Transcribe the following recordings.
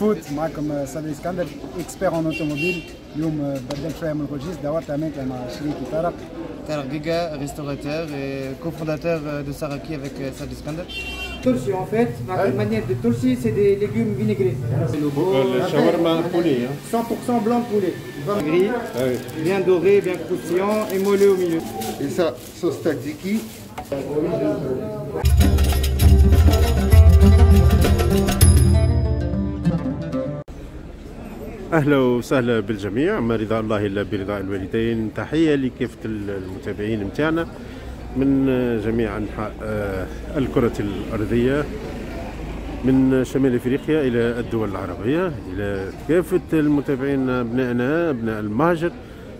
food. معكم صدري اسكندر، expert en automobile. اليوم بدلت شوية من ال registre، دورت اماكن مع شريكي طارق. طارق Giga، restaurateur et cofondateur de Saraki avec Sadri Skander. ترشي en fait, la manière de ترشي, c'est des légumes vinaigrés. الشاورما poulet. 100% blanc de poulet. Gris, bien doré, bien croustillant et moelleux au milieu. Et ça, sauce tzatziki. اهلا وسهلا بالجميع، ما رضا الله الا برضاء الوالدين. تحية لكافة المتابعين متاعنا من جميع انحاء الكره الارضية، من شمال افريقيا الى الدول العربية، الى كافة المتابعين ابنائنا ابناء المهجر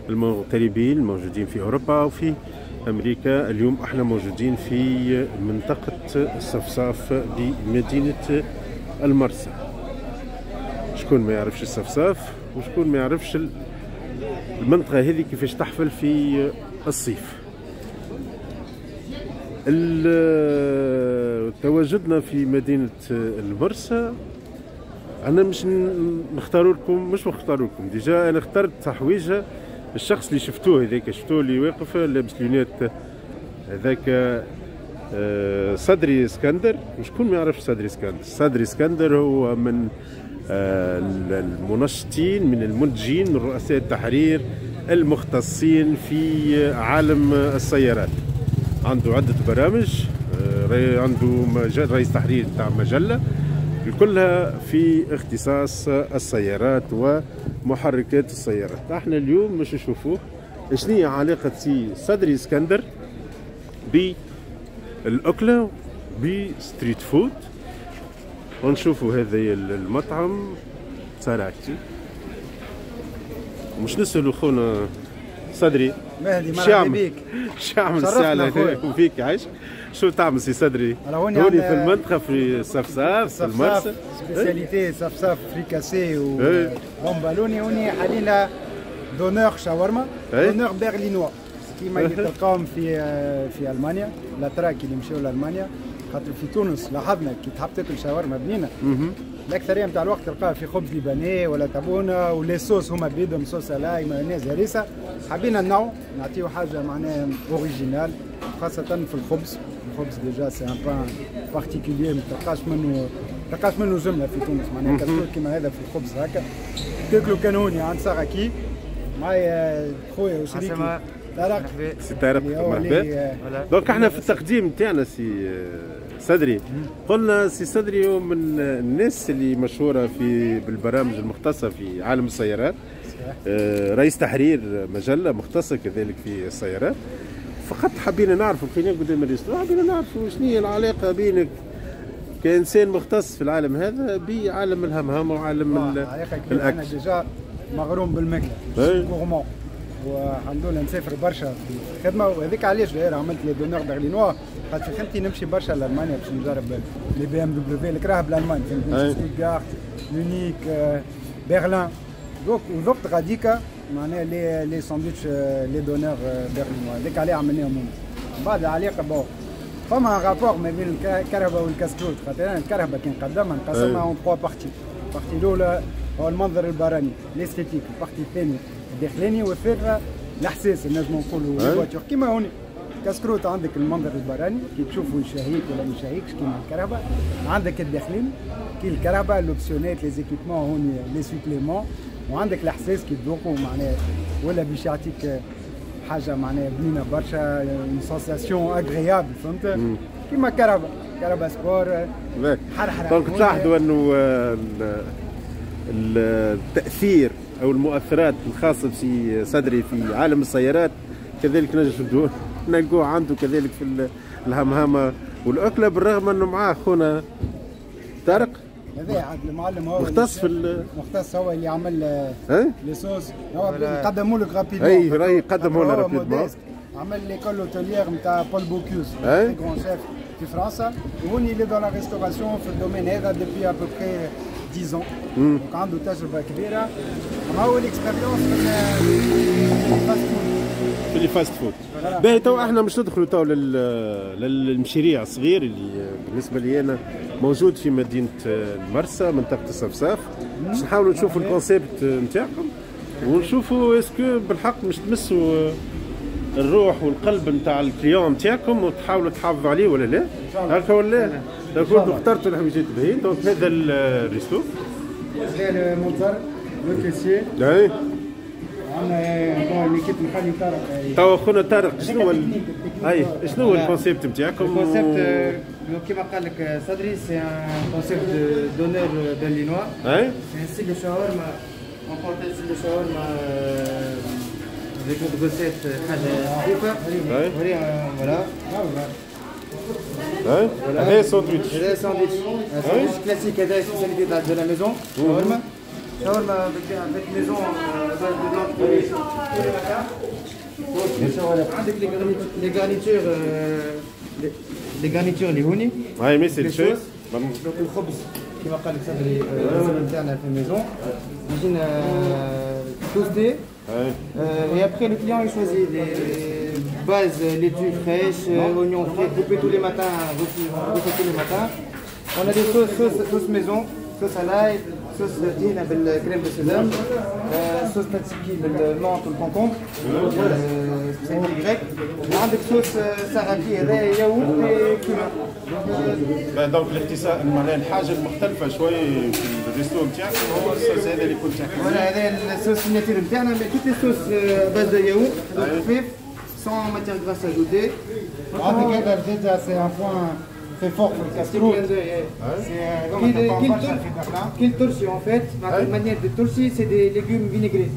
المغتربين الموجودين في اوروبا وفي امريكا. اليوم احنا موجودين في منطقة الصفصاف بمدينة المرسى. شكون ما يعرفش الصفصاف وشكون ما يعرفش المنطقة هذه كيفاش تحفل في الصيف. تواجدنا في مدينة المرسى، أنا مش نختار لكم، مش نختار لكم، déjà أنا اخترت حويجة. الشخص اللي شفتوه هذاك، شفتوه اللي واقف لابس lunettes هذاك، صدري اسكندر. وشكون ما يعرفش صدري اسكندر؟ صدري اسكندر هو من المنشطين، من المنتجين، من رؤساء التحرير المختصين في عالم السيارات. عنده عدة برامج، عنده رئيس تحرير تاع مجلة كلها في اختصاص السيارات ومحركات السيارات. احنا اليوم مش نشوفوه شنو هي علاقة سي صدري اسكندر بالأكلة ب street food. ونشوفوا هذا المطعم ساراكي. مش نسألوا خونا صدري مهدي، مرحبا بك. شو عمل الساعة فيك عايش؟ شو تعمل سي صدري؟ هوني في المنطقة في الصفصاف في المرسى، spécialité صفصاف فريكاسي و bomboloni. هوني حاليا doner شاورما، doner berlinois كيما اللي تلقاهم في المانيا، الاتراك اللي مشاو لالمانيا. خاطر في تونس لاحظنا كي تحب تاكل شاورما بنينه الاكثرية نتاع الوقت تلقاها في خبز لبناني ولا تابونه، و les sauces هما بيدهم sauce à l'ail مايونيز هريسه. حبينا نوع نعطيو حاجة معناها originale، خاصة في الخبز. الخبز déjà c'est un pain particulier، ما تلقاش منه جملة في تونس، معناها كسكروت كيما هذا في الخبز هكا تاكلو كان هوني عند ساراكي. معايا خويا وشريكي طارق. سي طارق مرحبا. donc احنا في التقديم تاعنا سي صدري، قلنا سي صدري هو من الناس اللي مشهورة في بالبرامج المختصة في عالم السيارات، رئيس تحرير مجلة مختصة كذلك في السيارات. فقط حبينا نعرفوا، بقينا قدام ال restaurant، حبينا نعرفوا شنو هي العلاقة بينك كانسان مختص في العالم هذا بعالم الهمهمه وعالم الاكل. انا déjà مغروم بالماكله، gourmand، والحمد لله نسافر برشا في الخدمة، وهذيك علاش داير عملت les doners berlinois. خاطر في خدمتي نمشي برشا لالمانيا باش نجرب les BMW الكراهب الالمان، فهمتني، ستوتغارت، ميونيك، برلين. donc وذقت غاديكا معناها les sandwichs les doners berlinois، هذيك عليه عملناهم هما. من بعد العلاقة bon فما rapport ما بين الكرهبه والكسكروت، خاطر انا الكرهبه كي نقدمها نقسمها en 3 parties. ال partie الاولى هو المنظر البراني l'esthétique، ال partie الثانية الداخلاني، والثالثة الاحساس نجمو نقولوا voiture. كيما هوني كسكروت عندك المنظر البراني كي تشوفوا يشهيك ولا ما يشهيكش كيما الكرهبه، عندك الداخلاني كي الكرهبه l'optionnel les équipements هوني les suppléments، وعندك الاحساس كي تذوقوا معناها ولا باش يعطيك حاجة معناها بنينه برشا، une sensation agréable، فهمت؟ كيما كرهبه، كرهبه sport حرحره. donc تلاحظوا انه التاثير او المؤثرات الخاصة بسي صدري في عالم السيارات كذلك نجم نلقوه عنده كذلك في الهمهمه والاكله، بالرغم انه معاه خونا طارق هذا عاد المعلم، هو مختص في مختص، هو اللي عمل les sauces، هو قدموا لك rapidement. اي راهي قدموا لنا rapidement. عمل l'école hôtelière نتاع Paul Bocuse، grand chef في فرنسا، وهوني il est dans la restauration في ال domaine هذا depuis à peu près 10 ans. donc عنده تجربه كبيرة، اما هو l'expérience في ال fast food. في ال fast food. باهي تو احنا مش ندخلوا تو للمشاريع الصغير اللي بالنسبة لي انا موجود في مدينة المرسى منطقة الصفصاف. باش نحاولوا نشوفوا ال concept نتاعكم ونشوفوا est-ce que بالحق مش تمسوا الروح والقلب نتاع ال client نتاعكم وتحاولوا تحافظوا عليه ولا لا، هكا ولا لا؟ donc اخترتوا الحويجات باهيين. donc هذا ال resto هذا المنظر le caissier. اي عندنا l'équipe نخلي طارق. توا خونا طارق، شنو هو اي شنو هو ال concept نتاعكم؟ ال concept كيما قال لك صدري، c'est un concept de döner berlinois. اي c'est un style de shawarma, on parle style de shawarma avec notre recette، حاجة خفيفه. voilà. هذا ساندويتش. هذا ساندويتش، sandwich classique، هذا spécialité de la maison، شاورما، شاورما avec maison base de blanc poulet tous les matins. عندك les garnitures، les garnitures اللي هوني. هاي ميسي الشيء. donc الخبز كيما قال لك صدري نتاعنا في ال maison يجينا toasté. Et après, le client il choisit les bases, laitue fraîche, oignons frais coupés tous les matins, refait tous les matins. On a des sauces, sauce, sauce maison, sauce à l'ail, sauce طحينة بال crème de sésame, sauce tzatziki بال menthe وال concombre, spécialité grecque. عندك sauce saraki، هذا yaourt et cumin. donc الاختصار معناها الحاجة المختلفة شوي في ال resto نتاعك هو الصوص هذا اللي كنت تحكي. voilà، هذا ال sauce signature نتاعنا، mais toutes les sauces base de yaourt، خفيف، sans matière grasse ajoutée. عندك هذا زاد c'est un point très fort في الكاسكروت. كي الترشي en fait, la manière de ترشي c'est des légumes vinaigrés.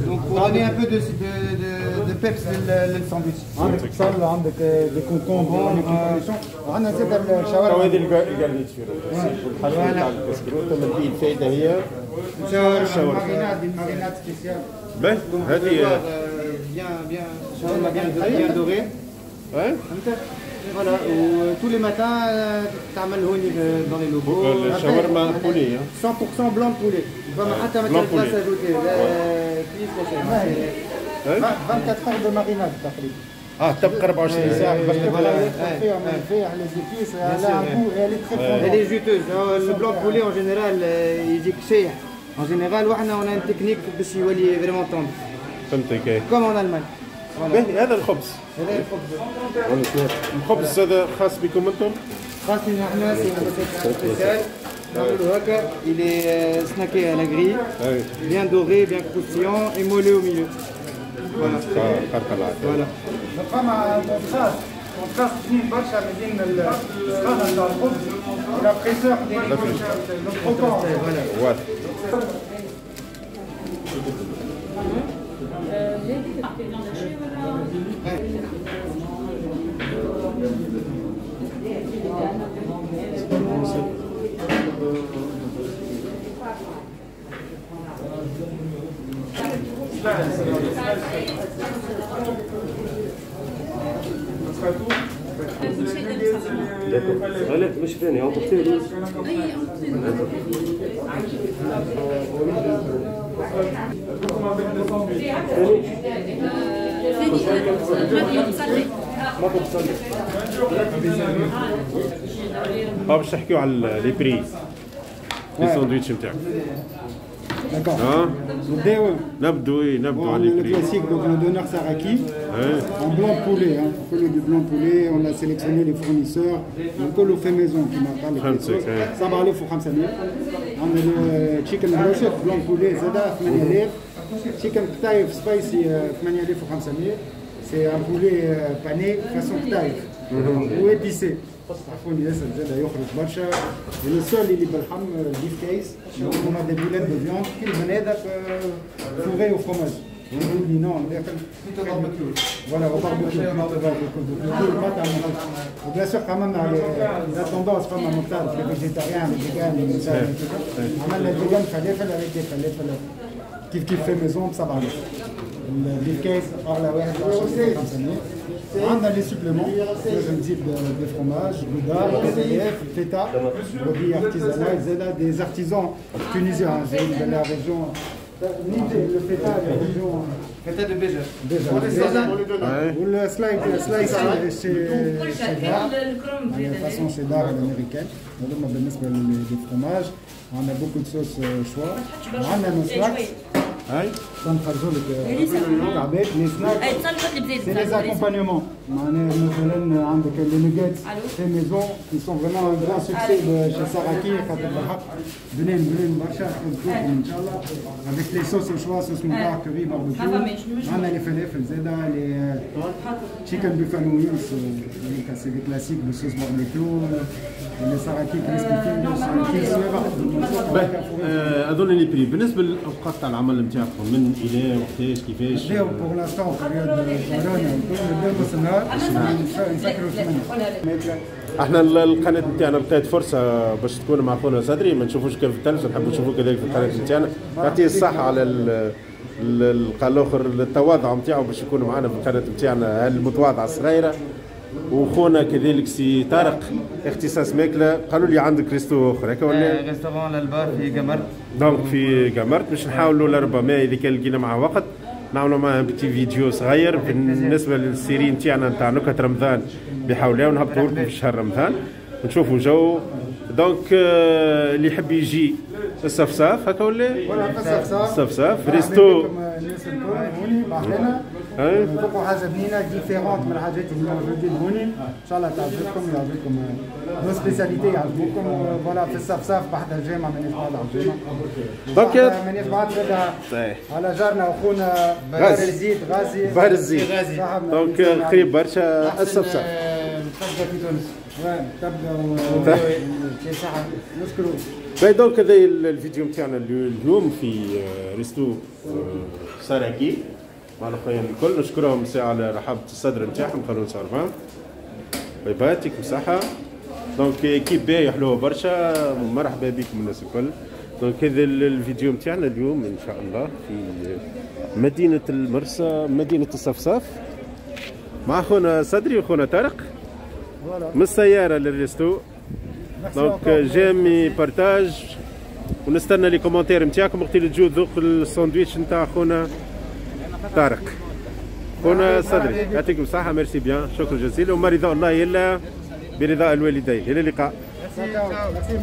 Donc pour donner un peu de peps للساندويتش. عندك بصل، عندك des concombres، وعندنا زاد الشاورما. هذه ال garniture الحاجة نتاع الكاسكروت، اما فيه الفائدة هي الشاورما، marinade spéciale. باهي هذه bien bien شاورما bien bien dorée. فهمت؟ voilà، و tous les matins تعمل هوني dans les locaux. الشاورما poulet. 100% blanc poulet، فما حتى matière grasse ajoutée، لا épices لا شيء. 24 heures de marinade تقريبا. تبقى 24 ساعة باش تبقى فيها les épices، elle a un goût، elle est très Elle est juteuse. Le blanc poulet en général يجيك شايح. En général وحنا on a une technique باش يولي vraiment tendre. فهمتك. Comme en Allemagne. باهي، هذا الخبز. هذا الخبز. الخبز هذا خاص بكم انتم؟ خاص لنا احنا، c'est spécial. نعملوا هكا، il est snacké à la grille, bien doré, bien croustillant et moelleux au milieu. Voilà. Voilà. فما contraste بنين برشا ما بين السخانه نتاع الخبز و la fraîcheur le croquant. واضح. لا مش ثاني emporter. باش نحكيو على les prix، les sandwichs نتاعك. D'accord. نبداو. نبدو، نبدو على les classique, donc le döner saraki en blanc poulet, hein. كله du blanc poulet, on a sélectionné les fournisseurs, كله fait maison كيما قال لك. 7500. عندنا chicken brochette blanc poulet زادا 8000. chicken قطايف spicy 8500، c'est un poulet pané façon قطايف و épicé. عفوني ياسر، زاد يخرج برشا. le seul اللي باللحم beef كيس، هما des boulettes de viande كي البنادق fourrées au fromage non داخل، voilà، au barbecue. و bien sûr عملنا la tendance، فما مختلف les végétariens، les véganes، عملنا vegan فلافل avec des فلافل كيف كيف fait maison ب 7000. ال beef كيس اغلى واحد 500. عندنا les suppléments، لازم تزيد des fromages، gouda، قطايف، feta، brebis artisanale زاده، des artisans tunisiens جايين من la région. le feta feta de Béja. Béja وال slice cheddar façon cheddar الامريكان. هذوما بالنسبة لل fromages. عندنا beaucoup de sauces choix، عندنا nos snacks. هاي تنخرجوا لك عباد les snacks، c'est les accompagnements. معناها مثلا عندك les nuggets fait maison qui sont vraiment un grand succès chez Saraki، خاطر بالحق بنين بنين برشا، تذوقهم ان شاء الله avec les sauces choix، sauce moutarde، curry، barbecue. عندنا les فلافل زاده، les chicken buffalo wings، c'est des classiques ب sauce barbecue، les Saraki crispy fingers. اظن les prix بالنسبة للاوقات تاع العمل نتاعكم من الى وقتاش كيفاش؟ نبداو pour l'instant période كورونا نبداو نص النهار، نسكروا 8. احنا القناة نتاعنا لقيت فرصة باش تكون مع خونا صدري، ما نشوفوش كان في التلفزة، نحبوا نشوفوه كذلك في القناة نتاعنا. يعطيه الصحة على الاخر التواضع نتاعو باش يكون معنا في القناة نتاعنا المتواضعة الصغيرة. وخونا كذلك سي طارق اختصاص ماكله، قالوا لي عندك resto اخر هكا ولا؟ restaurant الالبا في قمرت. donc في قمرت باش نحاولوا لربما اذا كان لقينا معاه وقت نعملوا معاه petit vidéo صغير بالنسبة لل série نتاعنا نتاع نكهة رمضان بحول الله، ونهبطوا لكم في شهر رمضان ونشوفوا جو. donc اللي يحب يجي الصفصاف هكا ولا؟ الصفصاف resto الناس الكل هوني معنا، نذوقوا حاجة بنينه différente من الحاجات اللي موجودين هوني، ان شاء الله تعجبكم، يعجبكم nos spécialités يعجبوكم. voilà في الصفصاف بحذا الجامع، مانيش بعاد على الجامع. donc مانيش بعاد على جارنا واخونا بار الزيت غازي. بار الزيت donc قريب برشا الصفصاف. تبدا في تونس. تبدا نشكروا. باهي donc هذا الفيديو نتاعنا اليوم في resto ساراكي مع الاخوين الكل، نشكرهم ساعة على رحابة الصدر نتاعهم، قالوا نصرفان. bye bye، يعطيكم الصحة. donc équipe باهي حلوة برشا، مرحبا بكم الناس الكل. donc هذا الفيديو نتاعنا اليوم ان شاء الله في مدينة المرسى، مدينة الصفصاف، مع خونا صدري وخونا طارق من السيارة لل resto. donc j'aime، partage، ونستنى les commentaires نتاعكم وقت اللي تجوا تذوق الساندويتش نتاع خونا طارق خونا صدري. يعطيكم الصحة، merci bien، شكرا جزيلا، وما رضا الله إلا برضاء الوالدين. إلى اللقاء. ميرسي.